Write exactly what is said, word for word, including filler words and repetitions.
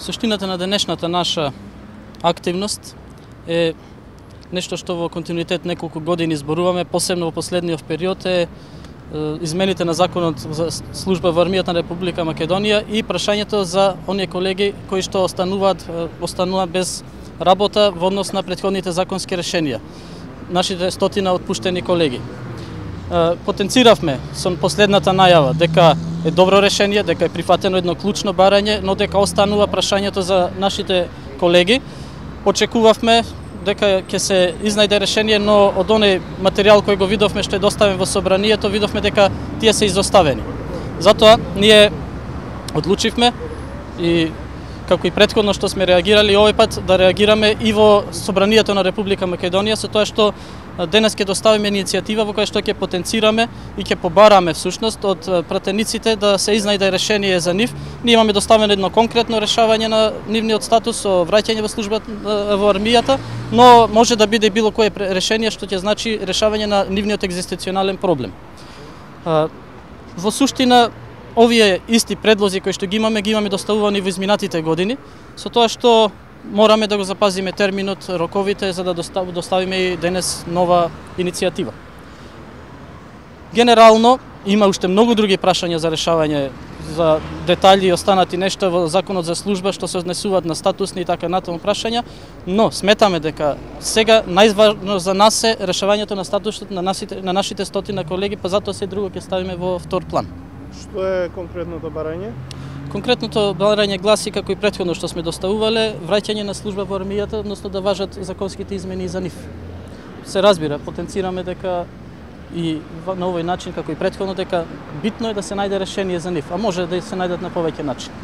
Суштината на денешната наша активност е нешто што во континуитет неколку години зборуваме, посебно во последниот период е измените на законот за служба во армијата на Република Македонија и прашањето за оние колеги кои што остануваат остануваат без работа во однос на претходните законски решенија. Нашите стотина отпуштени колеги. Потенциравме со последната најава дека е добро решение, дека е прифатено едно клучно барање, но дека останува прашањето за нашите колеги. Очекувавме дека ќе се изнајде решение, но од оној материјал кој го видовме што е доставен во собранието, видовме дека тие се изоставени. Затоа ние одлучивме и како и претходно што сме реагирали, овој пат да реагираме и во собранието на Република Македонија со тоа што денес ќе доставиме иницијатива во која што ќе потенцираме и ќе побараме всушност од пратениците да се изнајде решение за нив. Ние имаме доставено едно конкретно решавање на нивниот статус со враќање во службата во армијата, но може да биде било кое решение што ќе значи решавање на нивниот екзистенционален проблем. Во суштина овие исти предлози кои што ги имаме, ги имаме доставувани во изминатите години, со тоа што мораме да го запазиме терминот, роковите, за да доставиме и денес нова иницијатива. Генерално, има уште многу други прашања за решавање, за детали и останати нешта во законот за служба што се однесуваат на статусни и така натаму прашања, но сметаме дека сега најважно за нас е решавањето на статусот на нашите, на нашите стотина колеги, па затоа се друго ќе ставиме во втор план. Што е конкретното барање? Конкретното барање гласи, како и претходно што сме доставувале, враќање на служба во армијата, односно да важат законските измени за нив. Се разбира, потенцираме дека и на овој начин, како и претходно, дека битно е да се најде решение за нив, а може да се најдат на повеќе начин.